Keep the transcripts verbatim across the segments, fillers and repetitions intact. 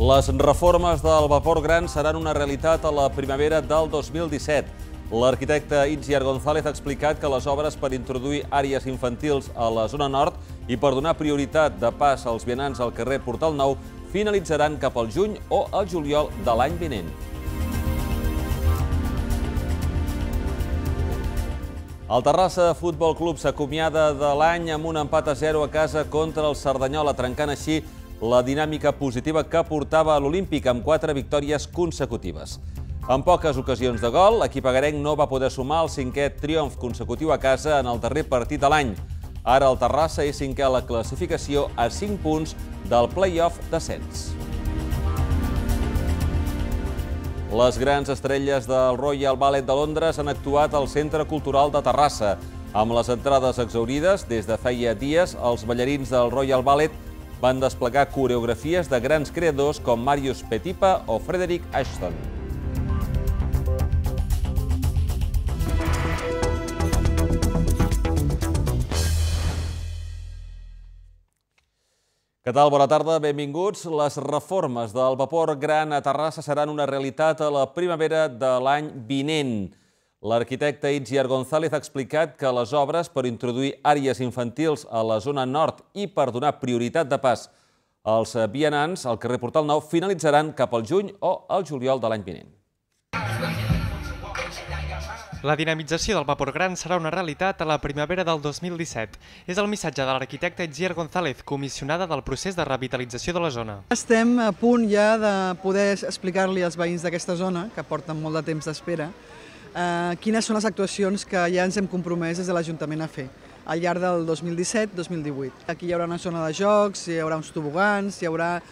Les reformes del vapor gran seran una realitat a la primavera del dos mil disset. L'arquitecte Itziar González ha explicat que les obres per introduir àrees infantils a la zona nord i per donar prioritat de pas als vianants al carrer Portal Nou finalitzaran cap al juny o al juliol de l'any vinent. El Terrassa Futbol Club s'acomiada de l'any amb un empat a zero a casa contra el Cerdanyola, trencant així la dinàmica positiva que portava a l'Olímpic amb quatre victòries consecutives. En poques ocasions de gol, l'equip agarenc no va poder sumar el cinquè triomf consecutiu a casa en el darrer partit de l'any. Ara el Terrassa és cinquè a la classificació a cinc punts del play-off d'ascens. Les grans estrelles del Royal Ballet de Londres han actuat al Centre Cultural de Terrassa. Amb les entrades exhaurides, des de feia dies, els ballarins del Royal Ballet van desplegar coreografies de grans creadors com Marius Petipa o Frederick Ashton. Què tal? Bona tarda, benvinguts. Les reformes del vapor gran a Terrassa seran una realitat a la primavera de l'any vinent. L'arquitecte Itziar González ha explicat que les obres per introduir àrees infantils a la zona nord i per donar prioritat de pas als vianants al carrer Portal Nou finalitzaran cap al juny o al juliol de l'any vinent. La dinamització del vapor gran serà una realitat a la primavera del dos mil disset. És el missatge de l'arquitecte Itziar González, comissionada del procés de revitalització de la zona. Estem a punt ja de poder explicar-li als veïns d'aquesta zona, que porten molt de temps d'espera, eh, quines són les actuacions que ja ens hem compromès des de l'Ajuntament a fer al llarg del dos mil disset dos mil divuit. Aquí hi haurà una zona de jocs, hi haurà uns tobogans, hi haurà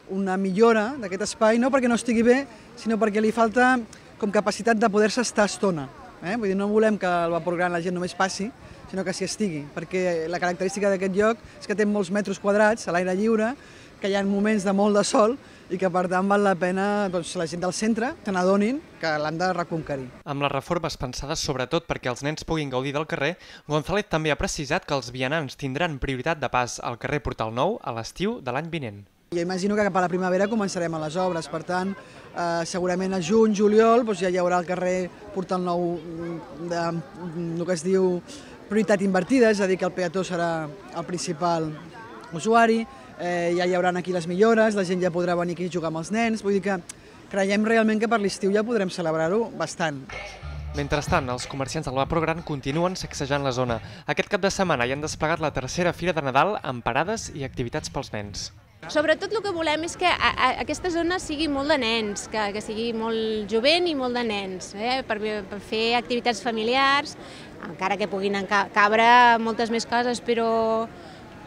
una millora d'aquest espai, no perquè no estigui bé, sinó perquè li falta com capacitat de poder-se estar estona. Eh? Vull dir, no volem que el vapor gran la gent només passi, sinó que s'hi estigui, perquè la característica d'aquest lloc és que té molts metres quadrats a l'aire lliure, que hi ha moments de molt de sol i que per tant val la pena doncs, la gent del centre se n'adonin que l'han de reconquerir. Amb les reformes pensades sobretot perquè els nens puguin gaudir del carrer, González també ha precisat que els vianants tindran prioritat de pas al carrer Portal Nou a l'estiu de l'any vinent. Jo imagino que cap a la primavera començarem a les obres, per tant, eh, segurament a juny, juliol, doncs ja hi haurà al carrer Portal Nou de, el que es diu prioritat invertida, és a dir, que el peató serà el principal usuari, eh, ja hi haurà aquí les millores, la gent ja podrà venir aquí a jugar amb els nens, vull dir que creiem realment que per l'estiu ja podrem celebrar-ho bastant. Mentrestant, els comerciants del vapor gran continuen sacsejant la zona. Aquest cap de setmana hi han desplegat la tercera Fira de Nadal amb parades i activitats pels nens. Sobretot el que volem és que a, a, aquesta zona sigui molt de nens, que, que sigui molt jovent i molt de nens, eh? per, per fer activitats familiars, encara que puguin cabre moltes més coses, però,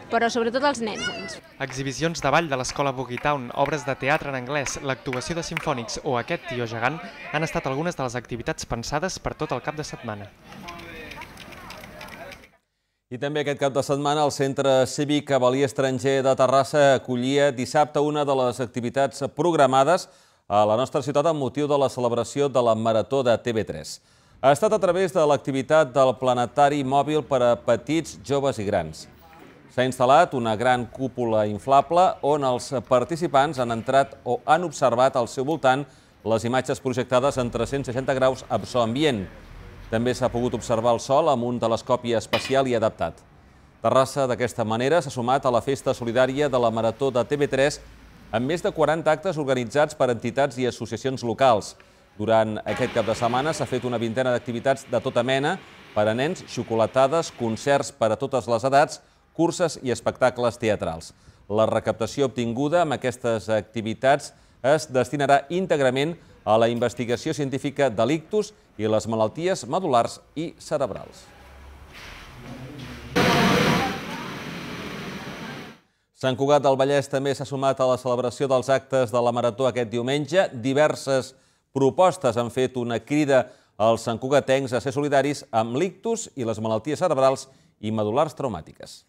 però sobretot els nens. Exhibicions de ball de l'Escola Boogie-Town, obres de teatre en anglès, l'actuació de simfònics o aquest tió gegant han estat algunes de les activitats pensades per tot el cap de setmana. I també aquest cap de setmana el Centre Cívic Avel·lí Estranger de Terrassa acollia dissabte una de les activitats programades a la nostra ciutat amb motiu de la celebració de la Marató de T V tres. Ha estat a través de l'activitat del planetari mòbil per a petits, joves i grans. S'ha instal·lat una gran cúpula inflable on els participants han entrat o han observat al seu voltant les imatges projectades en tres-cents seixanta graus amb so ambient. També s'ha pogut observar el sol amb un telescopi especial i adaptat. Terrassa, d'aquesta manera, s'ha sumat a la festa solidària de la Marató de T V tres amb més de quaranta actes organitzats per entitats i associacions locals. Durant aquest cap de setmana s'ha fet una vintena d'activitats de tota mena per a nens, xocolatades, concerts per a totes les edats, curses i espectacles teatrals. La recaptació obtinguda amb aquestes activitats es destinarà íntegrament a la investigació científica de l'ictus i les malalties medul·lars i cerebrals. Sant Cugat del Vallès també s'ha sumat a la celebració dels actes de la Marató aquest diumenge. Diverses propostes han fet una crida als santcugatencs a ser solidaris amb l'ictus i les malalties cerebrals i medul·lars traumàtiques.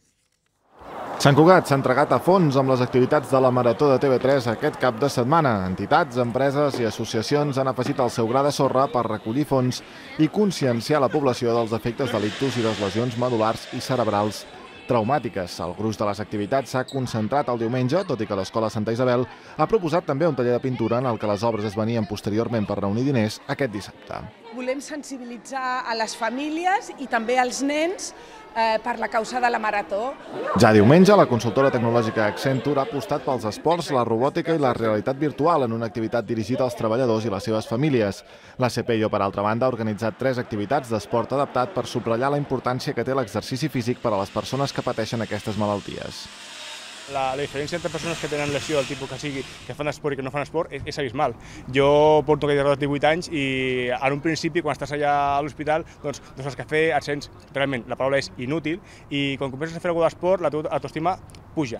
Sant Cugat s'ha entregat a fons amb les activitats de la Marató de T V tres aquest cap de setmana. Entitats, empreses i associacions han afegit el seu gra de sorra per recollir fons i conscienciar la població dels efectes de l'ictus i les lesions medul·lars i cerebrals traumàtiques. El gruix de les activitats s'ha concentrat el diumenge, tot i que l'Escola Santa Isabel ha proposat també un taller de pintura en el que les obres es venien posteriorment per reunir diners aquest dissabte. Volem sensibilitzar a les famílies i també als nens per la causa de la marató. Ja diumenge, la consultora tecnològica Accenture ha apostat pels esports, la robòtica i la realitat virtual en una activitat dirigida als treballadors i les seves famílies. La C P I O, per altra banda, ha organitzat tres activitats d'esport adaptat per subratllar la importància que té l'exercici físic per a les persones que pateixen aquestes malalties. La, la diferència entre persones que tenen lesió del tipus que sigui, que fan esport i que no fan esport, és, és abismal. Jo porto aquell de divuit anys i en un principi, quan estàs allà a l'hospital, doncs, doncs el cafè et sents, realment, la paraula és inútil, i quan comences a fer alguna d'esport, la teva autoestima puja.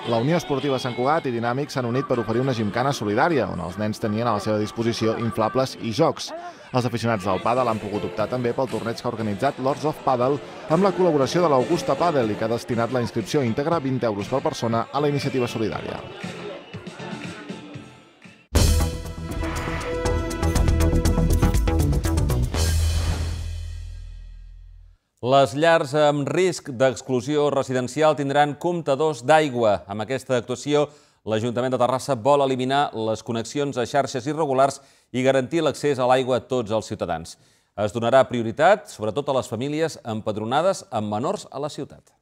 La Unió Esportiva Sant Cugat i Dinàmic s'han unit per oferir una gimcana solidària, on els nens tenien a la seva disposició inflables i jocs. Els aficionats del pàdel han pogut optar també pel torneig que ha organitzat Lords of Paddle amb la col·laboració de l'Augusta Paddle i que ha destinat la inscripció íntegra, vint euros per persona, a la iniciativa solidària. Les llars amb risc d'exclusió residencial tindran comptadors d'aigua. Amb aquesta actuació, l'Ajuntament de Terrassa vol eliminar les connexions a xarxes irregulars i garantir l'accés a l'aigua a tots els ciutadans. Es donarà prioritat, sobretot a les famílies empadronades amb menors a la ciutat.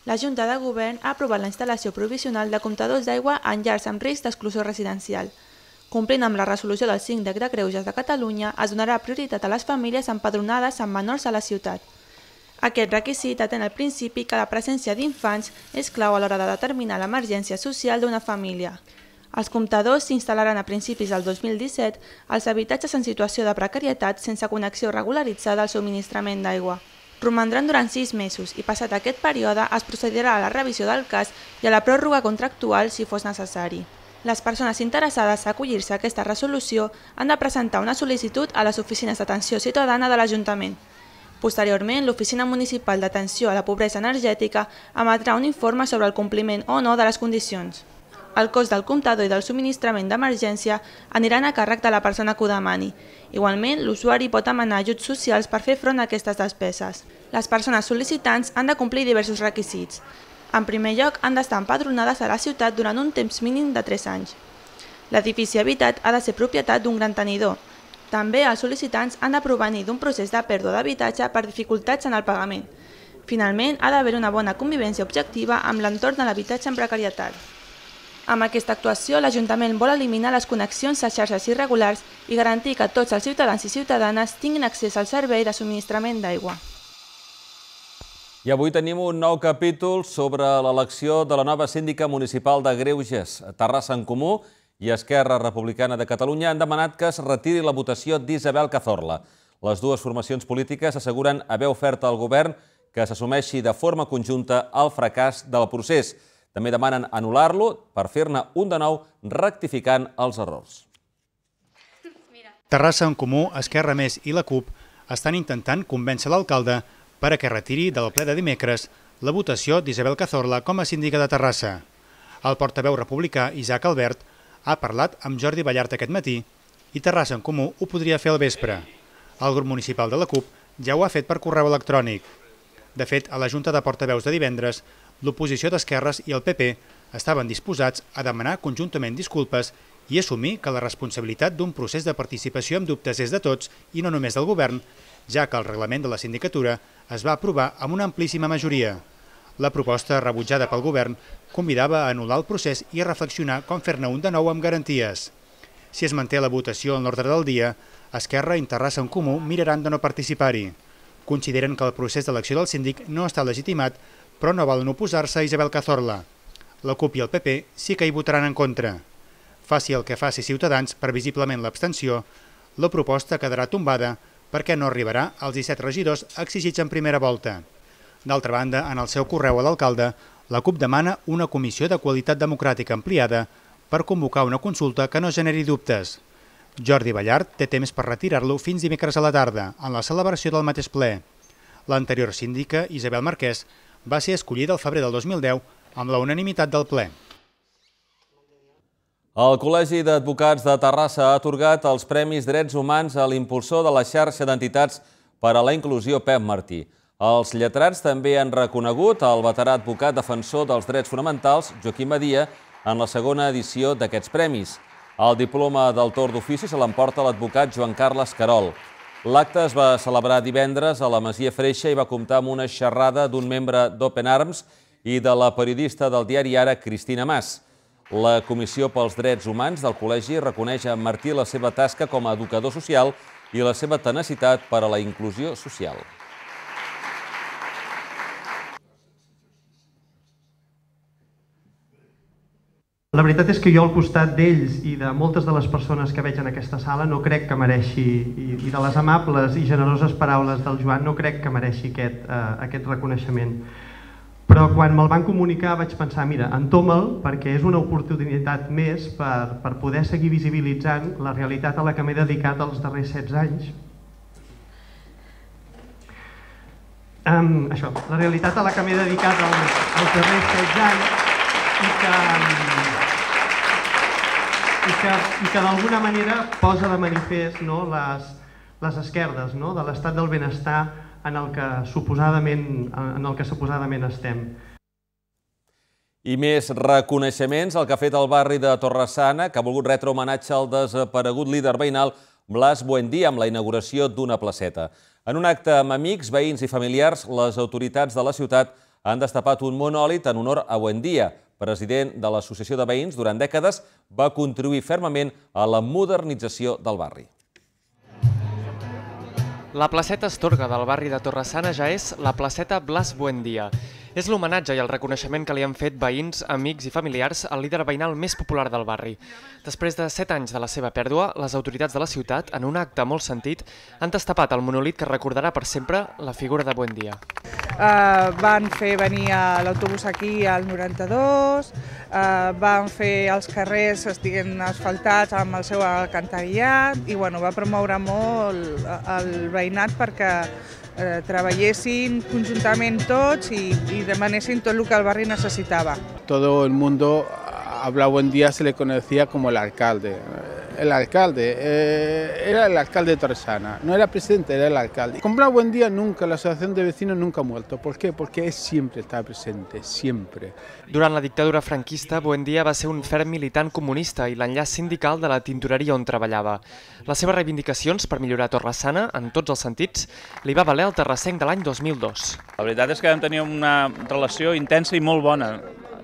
La Junta de Govern ha aprovat la instal·lació provisional de comptadors d'aigua en llars amb risc d'exclusió residencial. Complint amb la resolució del Síndic de Greuges de Catalunya, es donarà prioritat a les famílies empadronades amb menors a la ciutat. Aquest requisit atén al principi que la presència d'infants és clau a l'hora de determinar l'emergència social d'una família. Els comptadors s'instal·laran a principis del dos mil disset als habitatges en situació de precarietat sense connexió regularitzada al subministrament d'aigua. Romandran durant sis mesos i, passat aquest període, es procedirà a la revisió del cas i a la pròrroga contractual si fos necessari. Les persones interessades a acollir-se a aquesta resolució han de presentar una sol·licitud a les oficines d'atenció ciutadana de l'Ajuntament. Posteriorment, l'Oficina Municipal d'Atenció a la Pobresa Energètica emetrà un informe sobre el compliment o no de les condicions. El cost del comptador i del subministrament d'emergència aniran a càrrec de la persona que ho demani. Igualment, l'usuari pot demanar ajuts socials per fer front a aquestes despeses. Les persones sol·licitants han de complir diversos requisits. En primer lloc, han d'estar empadronades a la ciutat durant un temps mínim de tres anys. L'edifici habitat ha de ser propietat d'un gran tenidor. També els sol·licitants han de provenir d'un procés de pèrdua d'habitatge per dificultats en el pagament. Finalment, ha d'haver una bona convivència objectiva amb l'entorn de l'habitatge en precarietat. Amb aquesta actuació, l'Ajuntament vol eliminar les connexions a xarxes irregulars i garantir que tots els ciutadans i ciutadanes tinguin accés al servei de subministrament d'aigua. I avui tenim un nou capítol sobre l'elecció de la nova síndica municipal de Greuges. Terrassa en Comú i Esquerra Republicana de Catalunya han demanat que es retiri la votació d'Isabel Cazorla. Les dues formacions polítiques asseguren haver ofert al govern que s'assumeixi de forma conjunta el fracàs del procés. També demanen anul·lar-lo per fer-ne un de nou, rectificant els errors. Terrassa en Comú, Esquerra Més i la CUP estan intentant convèncer l'alcalde per a que retiri del ple de dimecres la votació d'Isabel Cazorla com a síndica de Terrassa. El portaveu republicà Isaac Albert ha parlat amb Jordi Ballart aquest matí i Terrassa en Comú ho podria fer al vespre. El grup municipal de la CUP ja ho ha fet per correu electrònic. De fet, a la Junta de Portaveus de divendres, l'oposició d'Esquerres i el P P estaven disposats a demanar conjuntament disculpes i assumir que la responsabilitat d'un procés de participació amb dubtes és de tots i no només del govern, ja que el reglament de la sindicatura es va aprovar amb una amplíssima majoria. La proposta, rebutjada pel govern, convidava a anul·lar el procés i a reflexionar com fer-ne un de nou amb garanties. Si es manté la votació en l'ordre del dia, Esquerra i Terrassa en Comú miraran de no participar-hi. Consideren que el procés d'elecció del síndic no està legitimat, però no volen oposar-se a Isabel Cazorla. La CUP i el P P sí que hi votaran en contra. Faci el que faci Ciutadans, previsiblement l'abstenció, la proposta quedarà tombada perquè no arribarà als disset regidors exigits en primera volta. D'altra banda, en el seu correu a l'alcalde, la CUP demana una comissió de qualitat democràtica ampliada per convocar una consulta que no generi dubtes. Jordi Ballart té temps per retirar-lo fins dimecres a la tarda, en la celebració del mateix ple. L'anterior síndica, Isabel Marquès, va ser escollida al febrer del dos mil deu amb la unanimitat del ple. El Col·legi d'Advocats de Terrassa ha atorgat els Premis Drets Humans a l'impulsor de la xarxa d'entitats per a la inclusió Pep Martí. Els lletrats també han reconegut el veterà advocat defensor dels drets fonamentals, Joaquim Badia, en la segona edició d'aquests premis. El diploma del torn d'ofici se l'emporta l'advocat Joan Carles Querol. L'acte es va celebrar divendres a la Masia Freixa i va comptar amb una xerrada d'un membre d'Open Arms i de la periodista del diari Ara, Cristina Mas. La Comissió pels Drets Humans del Col·legi reconeix a Martí la seva tasca com a educador social i la seva tenacitat per a la inclusió social. La veritat és que jo al costat d'ells i de moltes de les persones que veig en aquesta sala no crec que mereixi, i de les amables i generoses paraules del Joan, no crec que mereixi aquest, eh, aquest reconeixement. Però quan me'l van comunicar vaig pensar, mira, entoma'l perquè és una oportunitat més per, per poder seguir visibilitzant la realitat a la que m'he dedicat els darrers setze anys. Um, això, la realitat a la que m'he dedicat els, els darrers setze anys i que... i que, i que d'alguna manera posa de manifest no, les, les esquerdes no, de l'estat del benestar en el que suposadament, en el que suposadament estem. I més reconeixements, el que ha fet el barri de Torre-sana, que ha volgut retre homenatge al desaparegut líder veïnal Blas Buendía amb la inauguració d'una placeta. En un acte amb amics, veïns i familiars, les autoritats de la ciutat han destapat un monòlit en honor a Buendía. President de l'Associació de Veïns, durant dècades va contribuir fermament a la modernització del barri. La placeta Astorga del barri de Torre-sana ja és la placeta Blas Buendía. És l'homenatge i el reconeixement que li han fet veïns, amics i familiars al líder veïnal més popular del barri. Després de set anys de la seva pèrdua, les autoritats de la ciutat, en un acte molt sentit, han destapat el monòlit que recordarà per sempre la figura de Buendía. Uh, van fer venir l'autobús aquí al noranta-dos, uh, van fer els carrers estiguin asfaltats amb el seu alcantarillat i bueno, va promoure molt el veïnat perquè eh, treballessin conjuntament tots i, i demanessin tot el que el barri necessitava. Todo el mundo a Blas Buendía se le conocía como el alcalde. El alcalde, eh, era el alcalde de Torre-sana, no era presidente, era el alcalde. Con Blas Buendía nunca, la asociación de vecinos nunca ha muerto. ¿Por qué? Porque él siempre está presente, siempre. Durant la dictadura franquista, Buendía va ser un ferm militant comunista i l'enllaç sindical de la tintoreria on treballava. Les seves reivindicacions per millorar Torre-sana, en tots els sentits, li va valer el terrassenc de l'any dos mil dos. La veritat és que vam tenir una relació intensa i molt bona.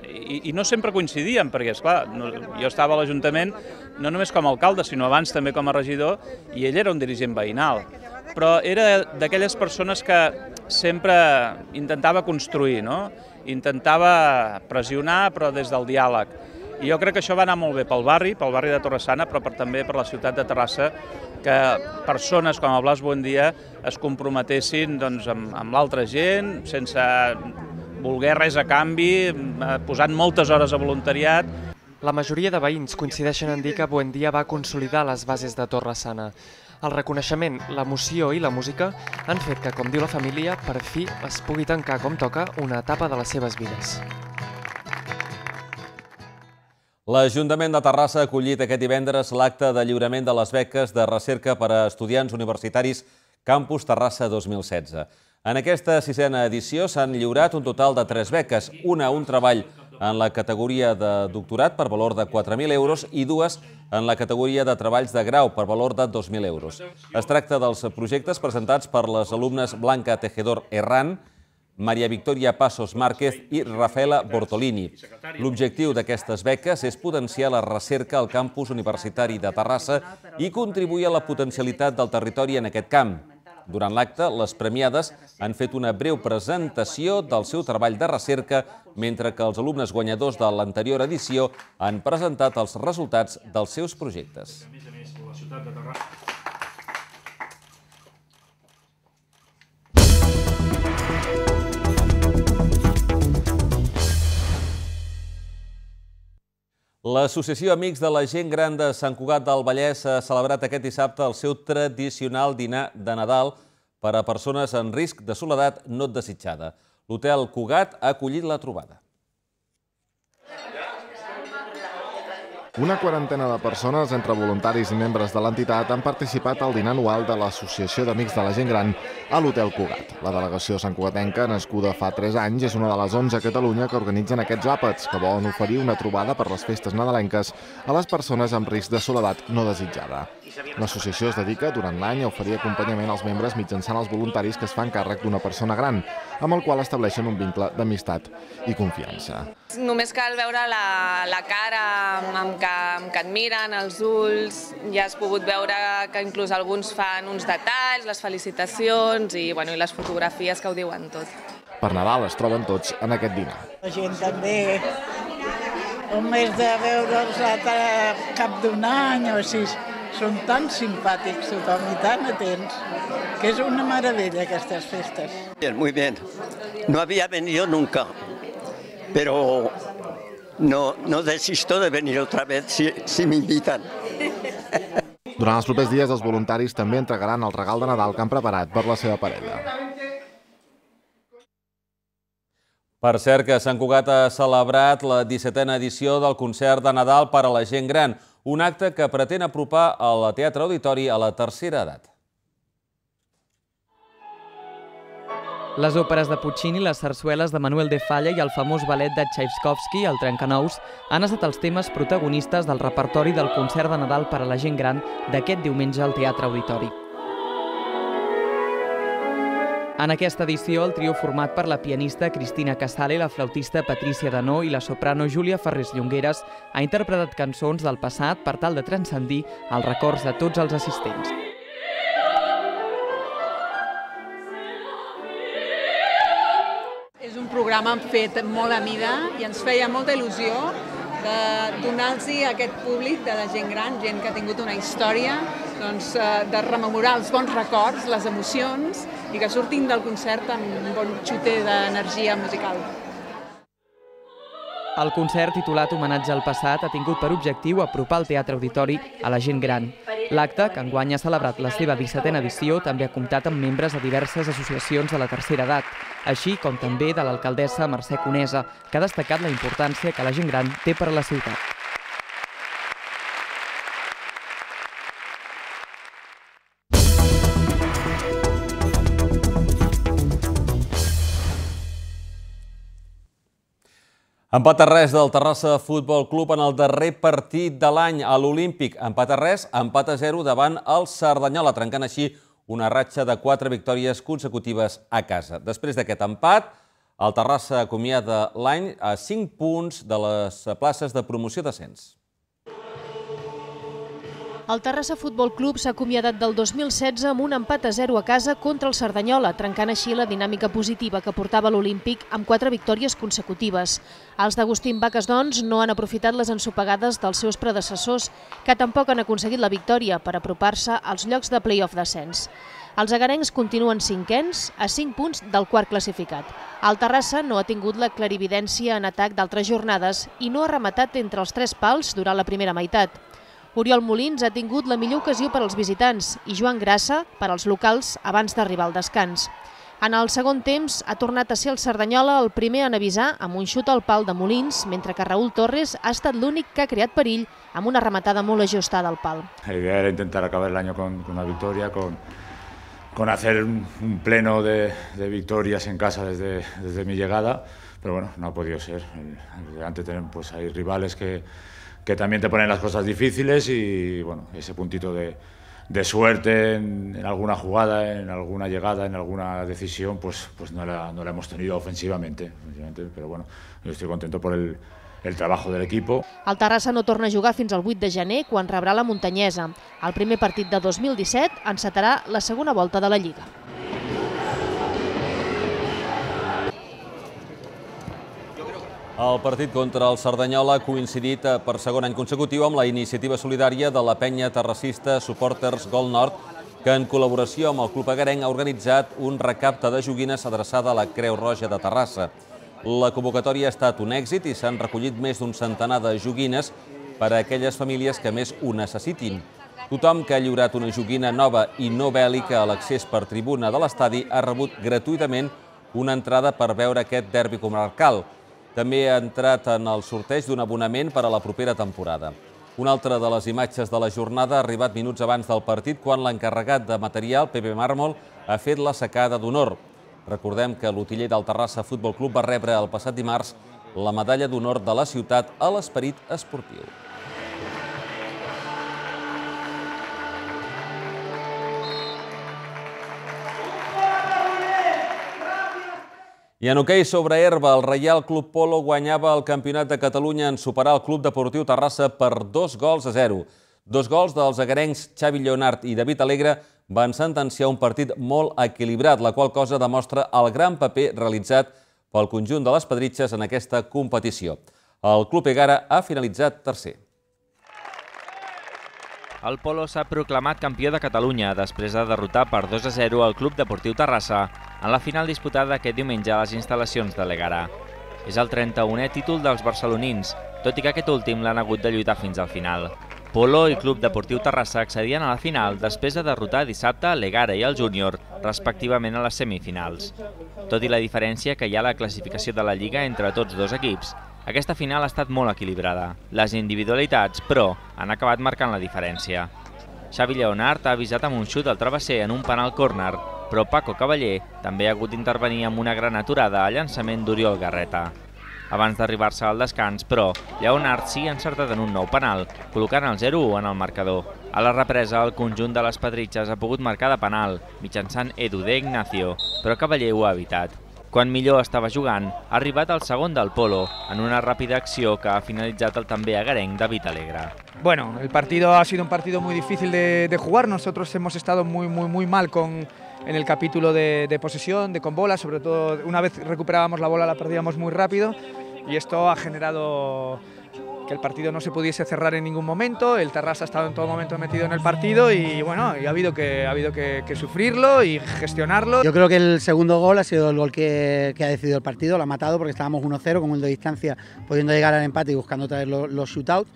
I, i no sempre coincidíem, perquè, esclar, no, jo estava a l'Ajuntament no només com a alcalde, sinó abans també com a regidor, i ell era un dirigent veïnal. Però era d'aquelles persones que sempre intentava construir, no? Intentava pressionar, però des del diàleg. I jo crec que això va anar molt bé pel barri, pel barri de Torre-sana, però per, també per la ciutat de Terrassa, que persones com el Blas Buendía es comprometessin doncs, amb, amb l'altra gent, sense voler res a canvi, posant moltes hores a voluntariat. La majoria de veïns coincideixen en dir que Buendía va consolidar les bases de Torre-sana. El reconeixement, l'emoció i la música han fet que, com diu la família, per fi es pugui tancar com toca una etapa de les seves vides. L'Ajuntament de Terrassa ha acollit aquest divendres l'acte de lliurament de les beques de recerca per a estudiants universitaris Campus Terrassa dos mil setze. En aquesta sisena edició s'han lliurat un total de tres beques, una un treball en la categoria de doctorat per valor de quatre mil euros i dues en la categoria de treballs de grau per valor de dos mil euros. Es tracta dels projectes presentats per les alumnes Blanca Tejedor Herrán, Maria Victoria Passos Márquez i Rafaela Bortolini. L'objectiu d'aquestes beques és potenciar la recerca al campus universitari de Terrassa i contribuir a la potencialitat del territori en aquest camp. Durant l'acte, les premiades han fet una breu presentació del seu treball de recerca, mentre que els alumnes guanyadors de l'anterior edició han presentat els resultats dels seus projectes. L'Associació Amics de la Gent Gran de Sant Cugat del Vallès ha celebrat aquest dissabte el seu tradicional dinar de Nadal per a persones en risc de soledat no desitjada. L'Hotel Cugat ha acollit la trobada. Una quarantena de persones, entre voluntaris i membres de l'entitat, han participat al dinar anual de l'Associació d'Amics de la Gent Gran a l'Hotel Cugat. La delegació santcugatenca, nascuda fa tres anys, és una de les onze a Catalunya que organitzen aquests àpats, que volen oferir una trobada per les festes nadalenques a les persones amb risc de soledat no desitjada. L'associació es dedica durant l'any a oferir acompanyament als membres mitjançant els voluntaris que es fan càrrec d'una persona gran, amb el qual estableixen un vincle d'amistat i confiança. Només cal veure la, la cara amb que, amb que et miren, els ulls, ja has pogut veure que inclús alguns fan uns detalls, les felicitacions i, bueno, i les fotografies que ho diuen tot. Per Nadal es troben tots en aquest dinar. La gent també, un mes de veure'ls a cap d'un any o així, són tan simpàtics tothom i tan atents, que és una meravella aquestes festes. Bien, muy bien. No había venido nunca, pero no, no desisto de venir otra vez si, si me invitan. Durant els propers dies, els voluntaris també entregaran el regal de Nadal que han preparat per la seva parella. Per cert, que Sant Cugat ha celebrat la dissetena edició del concert de Nadal per a la gent gran, un acte que pretén apropar el Teatre Auditori a la tercera edat. Les òperes de Puccini, les sarsueles de Manuel de Falla i el famós ballet de Tchaikovsky, el Trencanous, han estat els temes protagonistes del repertori del concert de Nadal per a la gent gran d'aquest diumenge al Teatre Auditori. En aquesta edició, el trio format per la pianista Cristina Casale, la flautista Patricia Danó i la soprano Júlia Ferrés Llongueres ha interpretat cançons del passat per tal de transcendir els records de tots els assistents. És un programa fet molt a mida i ens feia molta il·lusió de donar-los a aquest públic de la gent gran, gent que ha tingut una història, doncs, de rememorar els bons records, les emocions i que surtin del concert amb un bon xuter d'energia musical. El concert, titulat Homenatge al passat, ha tingut per objectiu apropar el Teatre Auditori a la gent gran. L'acte, que enguany ha celebrat la seva dissetena edició, també ha comptat amb membres de diverses associacions de la tercera edat, així com també de l'alcaldessa Mercè Conesa, que ha destacat la importància que la gent gran té per a la ciutat. Empat a res del Terrassa Futbol Club en el darrer partit de l'any a l'Olímpic. Empat a res, empat a zero davant el Cerdanyola, trencant així una ratxa de quatre victòries consecutives a casa. Després d'aquest empat, el Terrassa acomiada l'any a cinc punts de les places de promoció d'ascens. El Terrassa Futbol Club s'ha acomiadat del dos mil setze amb un empat a zero a casa contra el Cerdanyola, trencant així la dinàmica positiva que portava l'Olímpic amb quatre victòries consecutives. Els d'Agustín Vaques, doncs, no han aprofitat les ensopegades dels seus predecessors, que tampoc han aconseguit la victòria per apropar-se als llocs de play-off d'ascens. Els agarencs continuen cinquens, a cinc punts del quart classificat. El Terrassa no ha tingut la clarividència en atac d'altres jornades i no ha rematat entre els tres pals durant la primera meitat. Oriol Molins ha tingut la millor ocasió per als visitants i Joan Grassa per als locals abans d'arribar al descans. En el segon temps ha tornat a ser el Cerdanyola el primer en avisar amb un xut al pal de Molins, mentre que Raúl Torres ha estat l'únic que ha creat perill amb una rematada molt ajustada al pal. La idea era intentar acabar el año con, con una victoria, con, con hacer un, un pleno de, de victorias en casa desde, desde mi llegada, pero bueno, no ha podido ser. Antes tenemos, pues, hay rivales que que también te ponen las cosas difíciles y bueno, ese puntito de, de suerte en, en alguna jugada, en alguna llegada, en alguna decisión, pues, pues no, la, no la hemos tenido ofensivamente, ofensivamente, pero bueno, yo estoy contento por el, el trabajo del equipo. El Terrassa no torna a jugar fins al vuit de gener, quan rebrà la Muntanyesa. El primer partit de dos mil disset encetarà la segona volta de la Lliga. El partit contra el Cerdanyola ha coincidit per segon any consecutiu amb la iniciativa solidària de la penya terrassista Supporters Gol Nord, que en col·laboració amb el Club Agarenc ha organitzat un recapte de joguines adreçada a la Creu Roja de Terrassa. La convocatòria ha estat un èxit i s'han recollit més d'un centenar de joguines per a aquelles famílies que més ho necessitin. Tothom que ha lliurat una joguina nova i no bèl·lica a l'accés per tribuna de l'estadi ha rebut gratuïtament una entrada per veure aquest derbi comarcal. També ha entrat en el sorteig d'un abonament per a la propera temporada. Una altra de les imatges de la jornada ha arribat minuts abans del partit quan l'encarregat de material, Pepe Mármol, ha fet la secada d'honor. Recordem que l'utiller del Terrassa Futbol Club va rebre el passat dimarts la medalla d'honor de la ciutat a l'esperit esportiu. I en hoquei sobre herba, el Reial Club Polo guanyava el Campionat de Catalunya en superar el Club Deportiu Terrassa per dos gols a zero. Dos gols dels agarencs Xavi Lleonart i David Alegre van sentenciar un partit molt equilibrat, la qual cosa demostra el gran paper realitzat pel conjunt de les Pedritxes en aquesta competició. El Club Egara ha finalitzat tercer. El Polo s'ha proclamat campió de Catalunya després de derrotar per dos a zero el Club Deportiu Terrassa en la final disputada aquest diumenge a les instal·lacions de l'Egara. És el trenta-unè títol dels barcelonins, tot i que aquest últim l'han hagut de lluitar fins al final. Polo i Club Deportiu Terrassa accedien a la final després de derrotar dissabte l'Egara i el Júnior, respectivament a les semifinals. Tot i la diferència que hi ha a la classificació de la Lliga entre tots dos equips, aquesta final ha estat molt equilibrada. Les individualitats, però, han acabat marcant la diferència. Xavi Lleonart ha avisat amb un xut al travesser en un penal córner, però Paco Cavaller també ha hagut d'intervenir amb una gran aturada a llançament d'Oriol Garreta. Abans d'arribar-se al descans, però, Lleonart sí ha encertat en un nou penal, col·locant el zero a u en el marcador. A la represa, el conjunt de les Pedritxes ha pogut marcar de penal, mitjançant Edu de Ignacio, però Cavaller ho ha evitat. Quan millor estava jugant, ha arribat el segon del Polo, en una ràpida acció que ha finalitzat el també agarenc David Alegre. Bueno, el partido ha sido un partido muy difícil de, de jugar. Nosotros hemos estado muy, muy, muy mal con, en el capítulo de, de posesión, de con bola, sobre todo una vez recuperábamos la bola la perdíamos muy rápido y esto ha generado que el partido no se pudiese cerrar en ningún momento. El Terrassa ha estado en todo momento metido en el partido y bueno, y ha habido, que, ha habido que, que sufrirlo y gestionarlo. Yo creo que el segundo gol ha sido el gol que, que ha decidido el partido, lo ha matado porque estábamos uno cero con un de distancia, pudiendo llegar al empate y buscando otra vez los, los shootouts.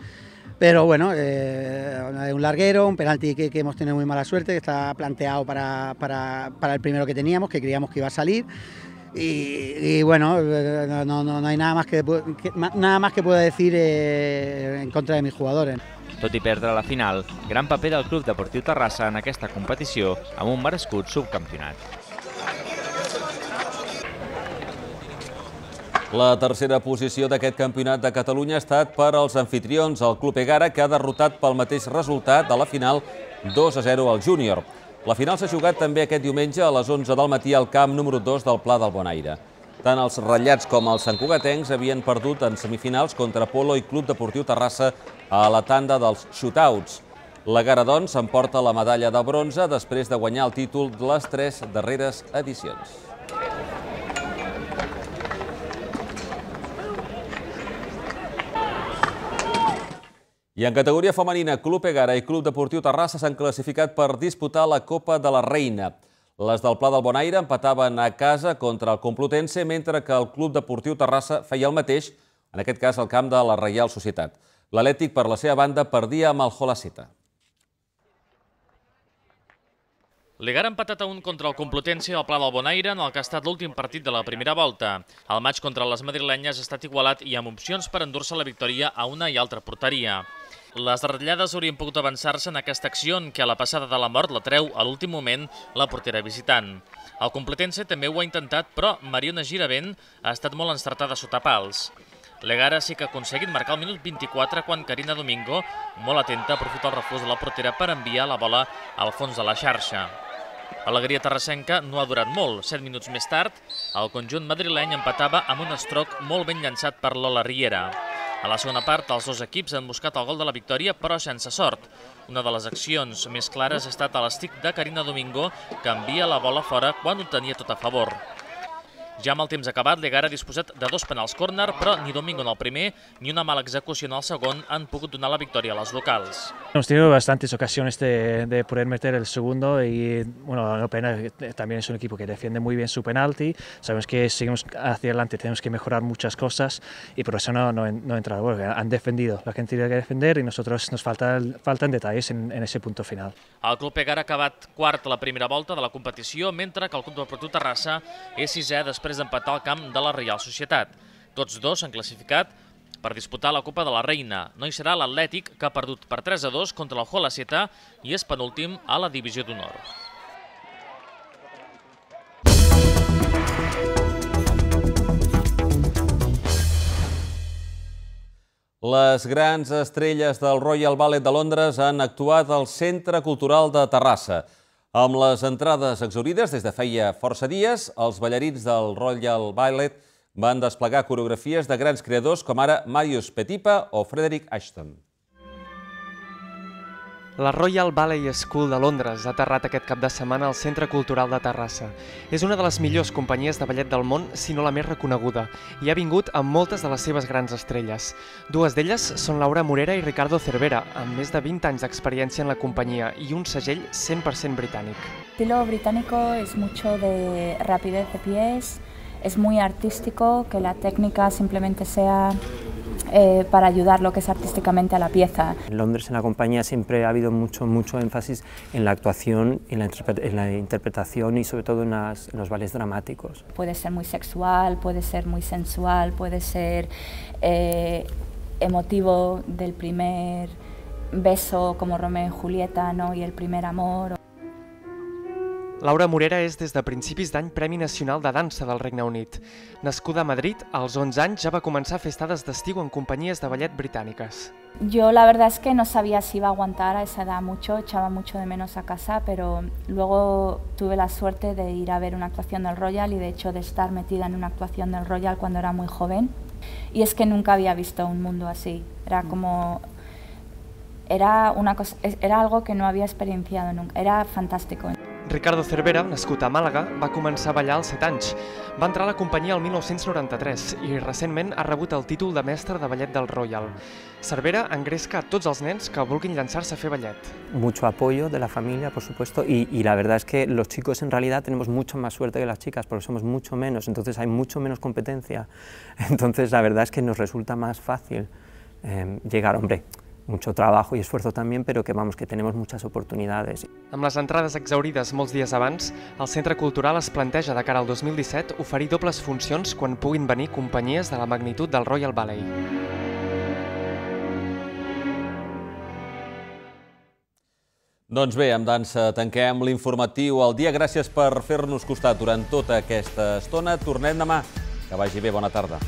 Pero bueno, eh, un larguero, un penalti que, que hemos tenido muy mala suerte, que está planteado para, para, para el primero que teníamos, que creíamos que iba a salir. Y, y bueno, no, no, no hay nada más que, que, nada más que pueda decir eh, en contra de mis jugadores. Tot i perdre la final, gran paper del Club Deportiu Terrassa en aquesta competició amb un merescut subcampionat. La tercera posició d'aquest campionat de Catalunya ha estat per als anfitrions, el Club Egara, que ha derrotat pel mateix resultat a la final dos a zero al Júnior. La final s'ha jugat també aquest diumenge a les onze del matí al camp número dos del Pla del Bonaire. Tant els ratllats com els santcugatencs havien perdut en semifinals contra Polo i Club Deportiu Terrassa a la tanda dels shootouts. L'Egara, doncs, s'emporta la medalla de bronze després de guanyar el títol de les tres darreres edicions. I en categoria femenina, Club Egara i Club Deportiu Terrassa s'han classificat per disputar la Copa de la Reina. Les del Pla del Bonaire empataven a casa contra el Complutense, mentre que el Club Deportiu Terrassa feia el mateix, en aquest cas al camp de la Reial Societat. L'Atlètic, per la seva banda, perdia amb el Holaceta. L'Egara ha empatat a un contra el Complutense al Pla del Bonaire en el que ha estat l'últim partit de la primera volta. El maig contra les madrilenyes ha estat igualat i amb opcions per endur-se la victòria a una i altra porteria. Les ratllades haurien pogut avançar-se en aquesta acció en què a la passada de la mort la treu a l'últim moment la portera visitant. El Complutense també ho ha intentat, però Mariona Giravent ha estat molt encertada sota pals. L'Egara sí que ha aconseguit marcar al minut vint-i-quatre quan Carina Domingo, molt atenta, aprofita el refús de la portera per enviar la bola al fons de la xarxa. L'alegria terrassenca no ha durat molt. Set minuts més tard, el conjunt madrileny empatava amb un estroc molt ben llançat per Lola Riera. A la segona part, els dos equips han buscat el gol de la victòria, però sense sort. Una de les accions més clares ha estat a l'estic de Carina Domingo, que envia la bola fora quan ho tenia tot a favor. Ja amb el temps acabat, l'Egara ha disposat de dos penals córner, però ni Domingo en el primer ni una mala execució en el segon han pogut donar la victòria a les locals. Hemos tenido bastantes ocasiones de, de poder meter el segundo y, bueno, no pena, también es un equipo que defiende muy bien su penalti. Sabemos que seguimos hacia adelante, tenemos que mejorar muchas cosas y por eso no, no, no entra. Bueno, han defendido lo que han tenido que defender y nosotros nos falta, faltan detalles en, en ese punto final. El Club Egara ha acabat quart a la primera volta de la competició, mentre que el Club Deportiu Terrassa és sisè després d'empatar al camp de la Reial Societat. Tots dos s'han classificat per disputar la Copa de la Reina. No hi serà l'Atlètic, que ha perdut per tres a dos contra el Jolaceta i és penúltim a la Divisió d'Honor. Les grans estrelles del Royal Ballet de Londres han actuat al Centre Cultural de Terrassa. Amb les entrades exhaurides des de feia força dies, els ballarins del Royal Ballet van desplegar coreografies de grans creadors com ara Marius Petipa o Frederick Ashton. La Royal Ballet School de Londres ha aterrat aquest cap de setmana al Centre Cultural de Terrassa. És una de les millors companyies de ballet del món, si no la més reconeguda, i ha vingut amb moltes de les seves grans estrelles. Dues d'elles són Laura Morera i Ricardo Cervera, amb més de vint anys d'experiència en la companyia i un segell cent per cent britànic. El estilo británico es mucho de rapidez de pies, es muy artístico, que la técnica simplemente sea Eh, para ayudar lo que es artísticamente a la pieza. En Londres, en la compañía, siempre ha habido mucho, mucho énfasis en la actuación, en la, en la interpretación y sobre todo en, las, en los ballets dramáticos. Puede ser muy sexual, puede ser muy sensual, puede ser eh, emotivo del primer beso como Romeo y Julieta, ¿no? Y el primer amor. Laura Morera és des de principis d'any Premi Nacional de Dansa del Regne Unit. Nascuda a Madrid, als onze anys ja va començar a fer estades d'estiu en companyies de ballet britàniques. Yo la verdad es que no sabía si iba a aguantar a esa edad mucho, echaba mucho de menos a casa, pero luego tuve la suerte de ir a ver una actuación del Royal y de hecho de estar metida en una actuación del Royal cuando era muy joven. Y es que nunca había visto un mundo así, era como... Era, una cosa, era algo que no había experienciado nunca, era fantástico. Ricardo Cervera, nascut a Màlaga, va començar a ballar als set anys. Va entrar a la companyia el mil nou-cents noranta-tres i recentment ha rebut el títol de mestre de ballet del Royal. Cervera engresca a tots els nens que vulguin llançar-se a fer ballet. Mucho apoyo de la familia, por supuesto, y, y la verdad es que los chicos en realidad tenemos mucho más suerte que las chicas porque somos mucho menos, entonces hay mucho menos competencia. Entonces la verdad es que nos resulta más fácil eh, llegar, hombre, mucho trabajo y esfuerzo también, pero que vamos, que tenemos muchas oportunidades. Amb les entrades exhaurides molts dies abans, el Centre Cultural es planteja de cara al dos mil disset oferir dobles funcions quan puguin venir companyies de la magnitud del Royal Ballet. Doncs bé, amb dansa tanquem l'informatiu al dia. Gràcies per fer-nos costat durant tota aquesta estona. Tornem demà. Que vagi bé, bona tarda.